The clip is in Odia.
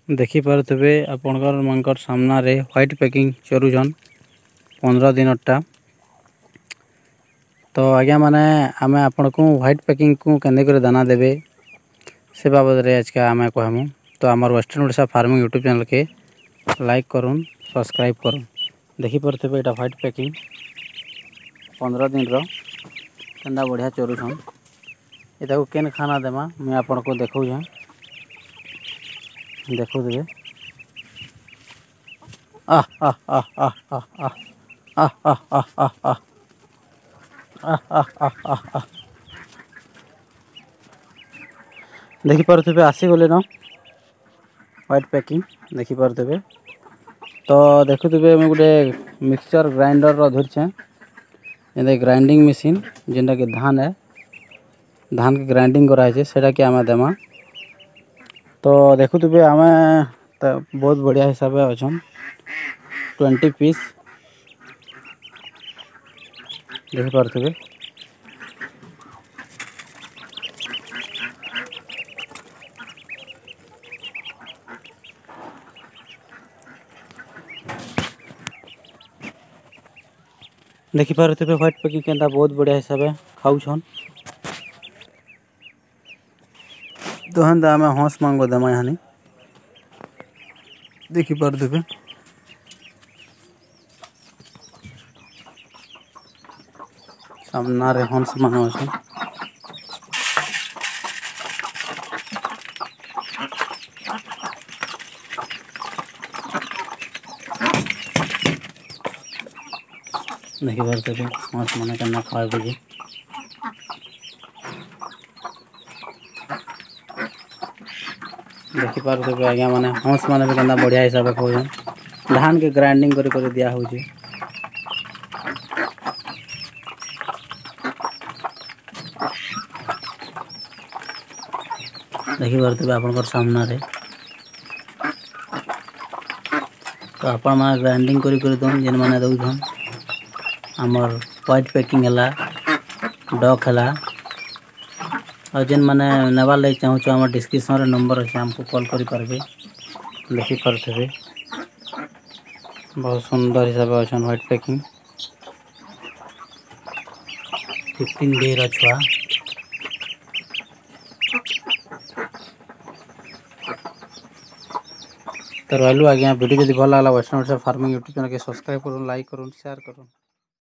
ଦେଖିପାରୁଥିବେ ଆପଣଙ୍କର ମାନଙ୍କର ସାମ୍ନାରେ ହ୍ୱାଇଟ୍ ପ୍ୟାକିଂ ଚରୁଛନ୍ 15 ଦିନଟା। ତ ଆଜ୍ଞା ମାନେ ଆମେ ଆପଣଙ୍କୁ ହ୍ୱାଇଟ୍ ପ୍ୟାକିଂକୁ କେନ୍ତା କରି ଦାନା ଦେବେ ସେ ବାବଦରେ ଆଜକା ଆମେ କହେମୁ। ତ ଆମର ୱେଷ୍ଟର୍ଣ୍ଣ ଓଡ଼ିଶା ଫାର୍ମିଂ ୟୁଟ୍ୟୁବ୍ ଚ୍ୟାନେଲ୍କେ ଲାଇକ୍ କରୁନ୍, ସବସ୍କ୍ରାଇବ୍ କରୁନ୍। ଦେଖିପାରୁଥିବେ ଏଇଟା ହ୍ୱାଇଟ୍ ପ୍ୟାକିଂ 15 ଦିନର, କେନ୍ତା ବଢ଼ିଆ ଚରୁଛନ୍। ଏଟାକୁ କେନ୍ ଖାନା ଦେମା ମୁଇଁ ଆପଣଙ୍କୁ ଦେଖଉଛେଁ, ଦେଖୁଥିବେ। ଆহ ଆହ ଆହ ଆହ ଆହ ଆହ ଆହ ଆହ ଆହ ଆହ ଆହ ଆହ ଆହ ଆହ ଆହ। ଦେଖିପାରୁଥିବେ ଆସିଗଲେନ ହ୍ୱାଇଟ୍ ପ୍ୟାକିଂ, ଦେଖିପାରୁଥିବେ। ତ ଦେଖୁଥିବେ ମୁଇଁ ଗୋଟେ ମିକ୍ସଚର୍ ଗ୍ରାଇଣ୍ଡର୍ର ଧରିଛେଁ, ଯେନ୍ତା ଗ୍ରାଇଣ୍ଡିଂ ମେସିନ୍, ଯେନ୍ଟାକି ଧାନ୍ ଏ ଧାନ୍କେ ଗ୍ରାଇଣ୍ଡିଂ କରାହେଇଛେ, ସେଟାକେ ଆମେ ଦେମା। ତ ଦେଖୁଥିବେ ଆମେ ତ ବହୁତ ବଢ଼ିଆ ହିସାବେ ଅଛନ୍। 20 ପିସ୍ ଦେଖିପାରୁଥିବେ। ଦେଖିପାରୁଥିବେ ହ୍ୱାଇଟ୍ ପ୍ୟାକିଂ କେନ୍ତା ବହୁତ ବଢ଼ିଆ ହିସାବେ ଖାଉଛନ୍। ତ ହେନ୍ତା ଆମେ ହଂସ ମାନଙ୍କୁ ଦେମା ଇହାନି, ଦେଖିପାରୁଥିବେ। ସାମ୍ନାରେ ହଂସ ମାନେ ଅଛନ୍। ଦେଖିପାରୁଥିବେ ହଂସ ମାନେ କେନ୍ତା ଖାଇବେ ଯେ। ଦେଖିପାରୁଥିବେ ଆଜ୍ଞା ମାନେ ହଂସ ମାନେ ବି କେନ୍ତା ବଢ଼ିଆ ହିସାବେ ଖାଉଛନ୍। ଧାନ୍କେ ଗ୍ରାଇଣ୍ଡିଂ କରି କରି ଦିଆ ହଉଛେ। ଦେଖିପାରୁଥିବେ ଆପଣଙ୍କର ସାମ୍ନାରେ। ତ ଆପଣମାନେ ଗ୍ରାଇଣ୍ଡିଂ କରି କରି ଦଉନ୍ ଯେନ୍ମାନେ ଦଉଛନ୍। ଆମର୍ ହ୍ୱାଇଟ୍ ପ୍ୟାକିଂ ହେଲା, ଡକ୍ ହେଲା, ଆଉ ଯେନ୍ମାନେ ନେବାର୍ ଲାଗି ଚାହୁଁଛ ଆମ ଡିସ୍କ୍ରିପ୍ସନ୍ରେ ନମ୍ବର ଅଛି, ଆମକୁ କଲ୍ କରିପାରିବେ। ଦେଖିପାରୁଥିବେ ବହୁତ ସୁନ୍ଦର ହିସାବେ ଅଛନ୍ ହ୍ୱାଇଟ୍ ପ୍ୟାକିଂ। 15 ଡେ'ର ଛୁଆ। ତ ରହିଲୁ ଆଜ୍ଞା, ଭିଡ଼ିଓ ଯଦି ଭଲ ଲାଗଲା ୱେଷ୍ଟର୍ଣ୍ଣ ଓଡ଼ିଶା ଫାର୍ମିଂ ୟୁଟ୍ୟୁବ୍ ଚ୍ୟାନେଲ୍କେ ସବସ୍କ୍ରାଇବ୍ କରୁନ୍, ଲାଇକ୍ କରୁନ୍, ସେୟାର କରୁନ୍।